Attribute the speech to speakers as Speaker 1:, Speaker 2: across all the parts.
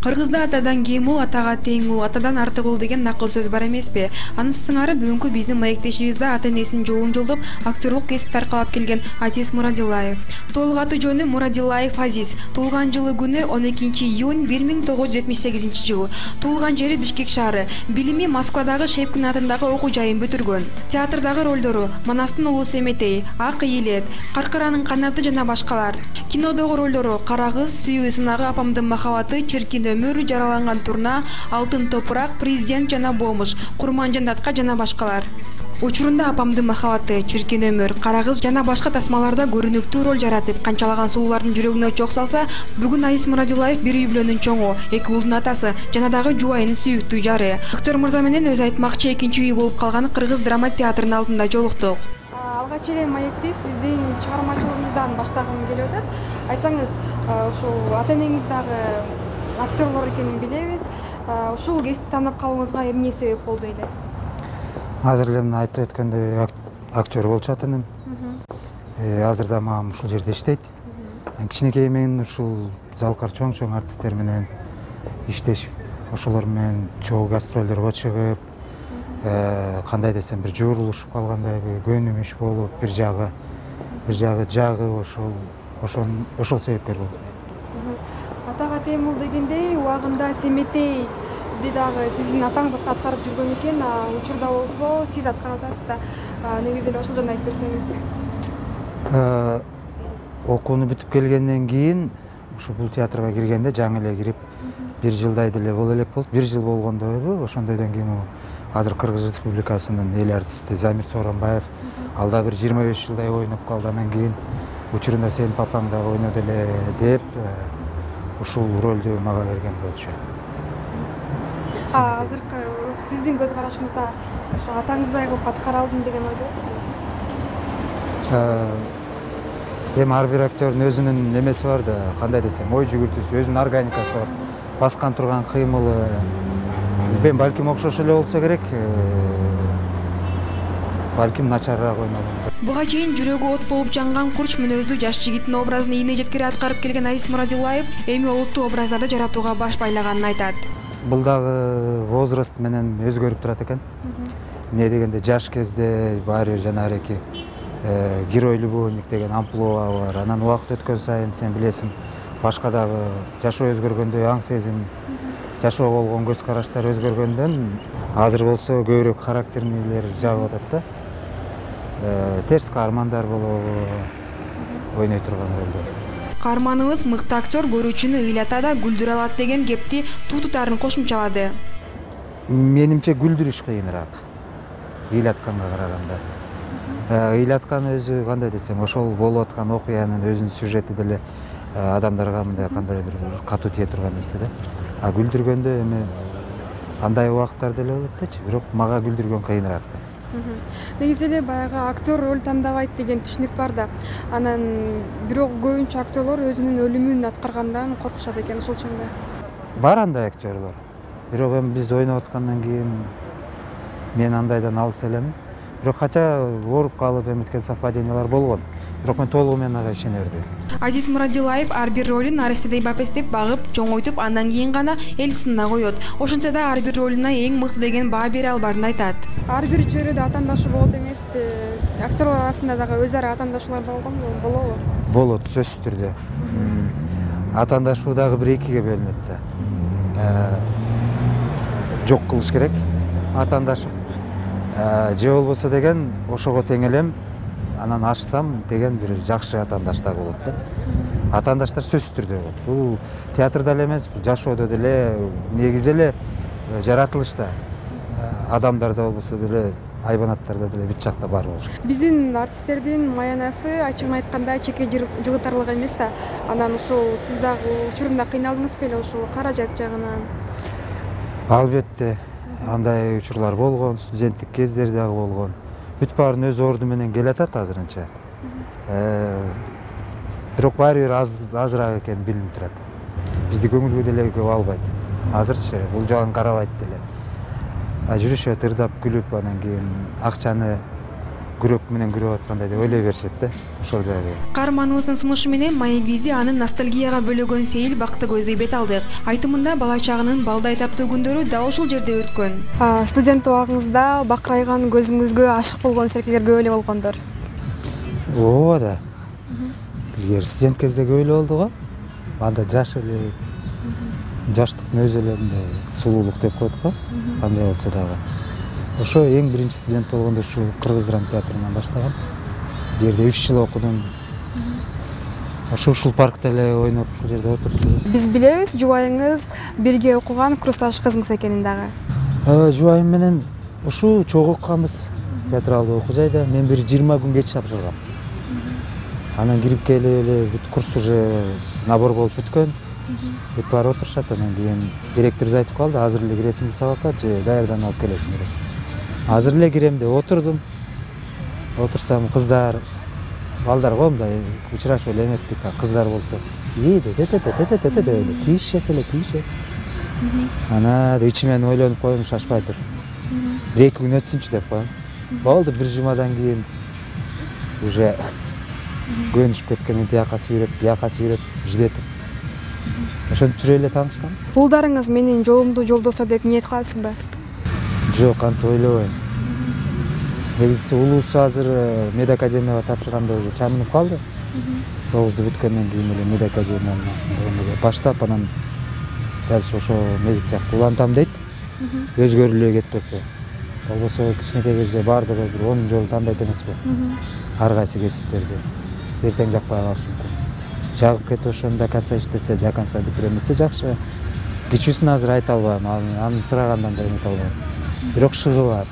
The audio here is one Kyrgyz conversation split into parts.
Speaker 1: Кыргызда атадан кем ул, атага тең ул, атадан артык ул деген накыл сөз бар эмеспи? Аны сыңары бүгүнкү биздин маектешибизде ата-энесинин жолун жолдоп актерлук кесипти аркалап келген Азиз Мурадилаев. Толук аты жөнү Мурадилаев Азиз. Туулган жылы күнү 12-июнь 1978 Туулган жери Бишкек шаары. Билими Москвадагы Шепкин атындагы окуу жайын бүтүргөн. Театрдагы ролдору: Манастын улуу Семетей, Ак ийилет, Каркаранын канаты жана башкалар. Кинодогу ролдору: Кара кыз, Сүйүү сынагы, Апамдын махабаты, Чиркин өмүр, Жараланган турна, Алтын топурак, Президент жана Бомуш, Курман жандатка жана башкалар. Учурунда Апамдын махабаты, Чиркин өмүр, Кара кыз жана башка тасмаларда көрүнүктүү роль жаратып, канчалаган сулуулардын жүрөгүнө чок салса, бүгүн Азиз Мурадилаев бир үй бүлөнүн чоңу, 2 уулдун атасы жана дагы жубайынын сүйүктүү жары. Актер мырза менен өзү айтмакчы экинчи үй болуп калган Кыргыз драма театрынын алдында жолуктук. Алгач эле маекти сиздин чыгармачылыгыңыздан баштагым келип атат. Айтсаңыз, ушул ата-энеңиз дагы актерлор экенин билебиз. Ушул кесипти тандап калууңузга эмне себеп болду эле?
Speaker 2: Азыр эле мына айтып өткөндөй актер болчу ата-энем. Азыр да мага ушул жерде иштейт. Кичинекей мен ушул залкар чоң артисттер менен иштешип, ошолор менен чогуу гастролдорго чыгып, кандай десем, бир жуурулушуп калгандай, көнүм иш болуп, бир жагы ошол себепкер болду.
Speaker 1: Атага тең ул дегендей, убагында Семетейди дагы сиздин атаңыз аткарып жүргөн экен, учурда болсо сиз аткарып атасыз да. Негизи эле ошол жөнүндө айтып берсеңиз.
Speaker 2: Окууну бүтүп келгенден кийин ушу бул театрга киргенде жаңы эле кирип, 1 жылдай деле боло элек болду. 1 жыл болгондойбу, ошондойдон кийин азыр Кыргыз Республикасынын эл артисти Замир Сооронбаев ал да бир 25 жылдай ойноп калды. Анан кийин учурунда сенин папаң дагы ойноду эле деп ушул ролду мага берген болчу.
Speaker 1: Азыркы сиздин көз карашыңызда ошо атаңыздай кылып аткара алдым деген ойдосузбу?
Speaker 2: Эми ар бир актердин өзүнүн немеси бар да, кандай десем, ой жүгүртүүсү, өзүнүн органикасы бар. Баскан турган кыймылы, балким окшош эле болсо керек, балким начарыраак ойногон.
Speaker 1: Буга чейин жүрөгү от болуп жанган курч мүнөздүү жаш жигиттин образын ийне жеткире аткарып келген Азиз Мурадилаев эми олуттуу образдарды жаратууга баш байлаганын айтат.
Speaker 2: Бул дагы возраст менен өзгөрүп турат экен. Эмне дегенде жаш кезде баары бир жанагы герой любовник деген амплуа бар. Анан убакыт өткөн сайын сен билесиң, башка дагы жашоо өзгөргөндө аң сезим, жашоого болгон көз караштар өзгөргөндөн азыр болсо көбүрөөк характернийлер жагып атат да. Терс каармандар болобу, ойной турган ролдор.
Speaker 1: Каарманыбыз мыкты актер көрүүчүнү ыйлата да күлдүрө алат деген кепти тутутарын кошумчалады.
Speaker 2: Менимче күлдүрүш кыйыныраак ыйлатканга караганда. Ыйлаткан өзү кандай десем, ошол болуп аткан окуянын өзүнүн сюжети деле адамдарга мындай кандай бир катуу тие турган нерсе да. Күлдүргөндө эми андай убакыттар деле болот дечи, бирок мага күлдүргөн кыйыныраак да.
Speaker 1: Негизи эле баягы актер роль тандабайт деген түшүнүк бар да. Анан бирок көбүнчө актерлор өзүнүн өлүмүн аткаргандан коркушат экен, ошолчоңда.
Speaker 2: Бар андай актерлор. Бирок эми биз ойноп аткандан кийин мен андайдан алыс элемин. Бирок хотя ооруп калып эметкен совпадениялар болгон. Бирок мен толугу менен ага ишене бербейм.
Speaker 1: Азиз Мурадилаев ар бир ролун арестедей бапестеп багып, чоңойтуп, андан кийин гана эл сынына коет. Ошентсе да ар бир ролуна эң мыкты деген баа бере албаарын айтат. Ар бир чөйрөдө атаандашы болот эмеспи? Актерлор арасында дагы өз ара атаандашуулар болобу?
Speaker 2: Болот, сөзсүз түрдө. Атаандашуу дагы бир экиге бөлүнөт да. Жок кылыш керек атаандашып. Же болбосо деген ошого тең элем, анан ашсам деген бир жакшы атаандаш дагы болот да. Атаандаштар сөзсүз түрдө болот. Бул театрда эле эмес, жашоодо деле, негизи эле жаратылышта адамдарда болбосо деле, айбанаттарда деле бүт жакта бар болуш керек.
Speaker 1: Биздин артисттердин маянасы ачыгын айтканда чеке жылытарлык эмес да. Анан ушул сиз дагы учурунда кыйналдыңыз беле ушул каражат жагынан?
Speaker 2: Албетте. Андай учурлар болгон, студенттик кездер дагы болгон. Бүт баарын өз орду менен келатат азырынча. Бирок баары бир азыраак экени билинип турат. Бизди көңүлгө деле көп албайт. Азырчы бул жагын карабайт деле. Жүрүшөт ырдап күлүп, анан кийин акчаны күрөк менен күрөп аткандай деп ойлой беришет да, ошол жайга.
Speaker 1: Каарманыбыздын сунушу менен маек бизди анын ностальгияга бөлөгөн Сейил Бактыгөздү бет алдык. Айтымында бала чагынын балдай таптуу күндөрү дал ушул жерде өткөн. Студент убагыңызда бакырайган көзүңүзгө ашык болгон серкелер көп эле болгондор.
Speaker 2: Ооба да. Илгери студент кезде көп эле болду го. Анда жаш эле, жаштыктын өзү эле мындай сулуулук деп коет го. Кандай болсо дагы. Ошо эң биринчи студент болгондо ушу Кыргыз драма театрынан баштагам. Бу жерде 3 жыл окудум. Ушул паркта эле ойноп, ушул жерде отурчубуз. Биз
Speaker 1: билебиз, жубайыңыз бирге окуган курсташ кызыңыз экенин дагы.
Speaker 2: Жубайым менен ушу чогуу окуганбыз театралдуу окуу жайда. Мен бир 20 күн кеч тапшыргам. Анан кирип келип эле бүт курс уже набор болуп бүткөн. Бүт баары отурушат. Анан кийин директорубуз айтып калды, азыр эле киресиңби сабакка же даярданып алып келесиңби деп. Азыр эле кирем деп отурдум. Отурсам кыздар, балдар го мындай учурашып эле эметтик, кыздар болсо деп эле тийишет эле. Ана ичимен ойлонуп коем, шашпай тур. 1-2 күн өтсүнчү деп коем. Болду, бир жумадан кийин уже көнүшүп кеткен, тияка сүйрөп жүдөтүп. Ошентип жүрө эле таанышканбыз.
Speaker 1: Улдарыңыз менин жолумду жолдосо деп ниет кыласызбы?
Speaker 2: Жок, антип ойлобойм. Негизиси улуусу азыр медакадемияга тапшырганда уже чамынып калды. 9-ду бүткөндөн кийин эле медакадемиянын астында эмеге баштап, анан дальше ошо медик жакты улантам дейт. Өзгөрүлө кетпесе. Болбосо кичинекей кезде бардыгы бир 10 жолу тандайт эмеспи? Ар кайсы кесиптерди. Эртең жакпай калышы мүмкүн. Жагып кетип ошону до конца иштесе, до конца бүтүрөм десе жакшы. Кичүүсүн азыр айта албайм, аны сурагандан да эмете албайм. Бирок шыгы бар.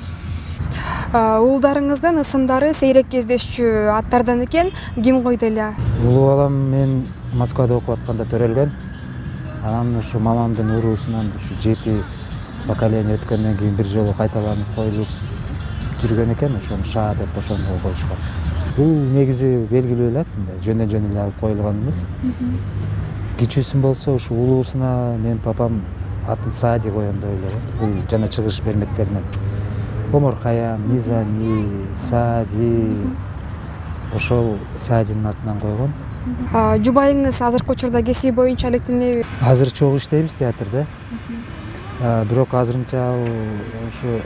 Speaker 1: Уулдарыңыздын ысымдары сейрек кездешчү аттардан экен, ким койду эле?
Speaker 2: Улуу балам мен Москвада окуп атканда төрөлгөн. Анан ушу мамамдын уруусунан ушу 7 поколение өткөндөн кийин бир жолу кайталанып коюлуп жүргөн экен, ошону ша деп ошондо коюшкан. Бул негизи белгилүү эле, мындай жөндөн эле алып коюлган эмес. Кичүүсүн болсо ушу улуусуна мен папам атын Саади коем деп ойлогон. Бул жана чыгыш бермектеринен. Омар Хаям, Низами, Саади, ошол Саадинин атынан койгон.
Speaker 1: Жубайыңыз азыркы учурда кесиби боюнча алектенеби?
Speaker 2: Азыр чогуу иштейбиз театрда. Бирок азырынча ал ушу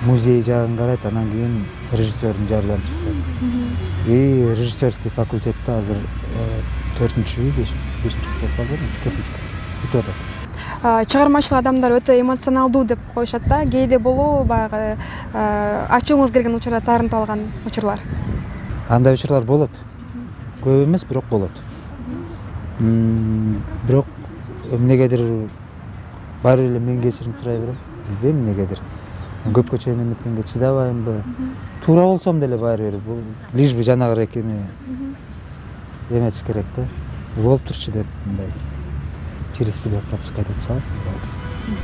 Speaker 2: музей жагын карайт, анан кийин режиссердун жардамчысы. Режиссерский факультетте азыр 4-5-курс болуп калды, 4-курс бүтүп атат.
Speaker 1: Чыгармачыл адамдар өтө эмоционалдуу деп коюшат да. Кээде болобу баягы ачууңуз келген учурда таарынтып алган учурлар?
Speaker 2: Андай учурлар болот. Көп эмес, бирок болот. Бирок эмнегедир баары эле мен кечирим сурай берем. Билбейм эмнегедир. Көпкө чейин эметкенге чыдабаймбы? Туура болсом деле баары бир бул лишь бы жанагы экени эметиш керек да. Болуп турчу деп мындай через себя пропускать этип саласың.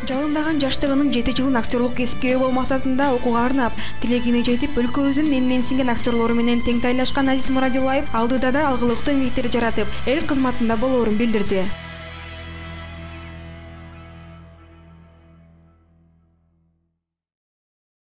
Speaker 1: Жалындаган жаштыгынын 7 жылын актерлук кесипке ээ болуу максатында окууга арнап, тилегине жетип, өлкөбүздүн менсинген актерлору менен тең тайлашкан Азиз Мурадилаев алдыда да алгылыктуу эмгектер жаратып, эл кызматында болоорун билдирди.